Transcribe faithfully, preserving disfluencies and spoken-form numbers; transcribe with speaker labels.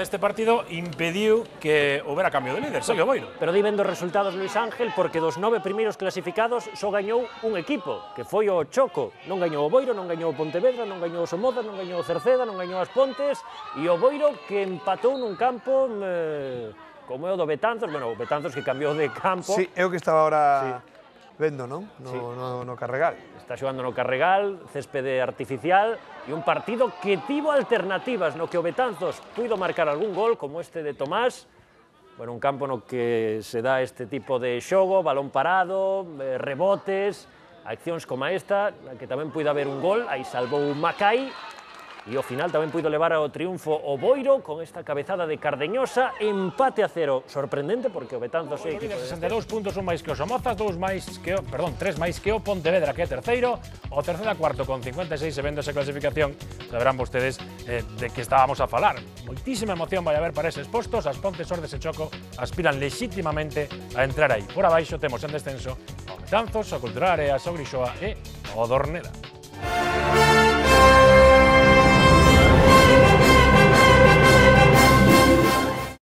Speaker 1: deste partido impediu que houbera cambio de líder, segue o Boiro.
Speaker 2: Pero di ben dos resultados, Luis Ángel, porque dos nove primeiros clasificados só gañou un equipo, que foi o Choco. Non gañou o Boiro, non gañou o Pontevedra, non gañou o Somoza, non gañou o Cerceda, non gañou as Pontes, e o Boiro que empatou nun campo eh, como é o do Betanzos, bueno, o Betanzos que cambiou de campo.
Speaker 3: Sí, é o que estaba ahora sí. vendo, non? No,
Speaker 2: sí.
Speaker 3: no, no Carregal.
Speaker 2: Está xogando no Carregal, céspede artificial, e un partido que tivo alternativas, no que o Betanzos puido marcar algún gol, como este de Tomás, bueno, un campo no que se dá este tipo de xogo, balón parado, eh, rebotes, accións como esta, na que tamén puido haber un gol, aí salvou Macai, e ao final tamén puido levar ao triunfo o Boiro con esta cabezada de Cardeñosa, empate a cero, sorprendente porque o Betanzos é equipo de
Speaker 1: sesenta e dous puntos, un máis que o Somozas, dous máis que o, perdón, tres máis que o Pontevedra, que é terceiro, o Cerceda cuarto con cincuenta e seis, e vendo esa clasificación, saberán vostedes eh, de que estábamos a falar. Moitísima emoción vai haber para eses postos, as Pontes, Ordes e Choco aspiran lexítimamente a entrar aí. Por abaixo temos en descenso o Betanzos, o Cultural Áreas, o Grixoa e o Dorneda.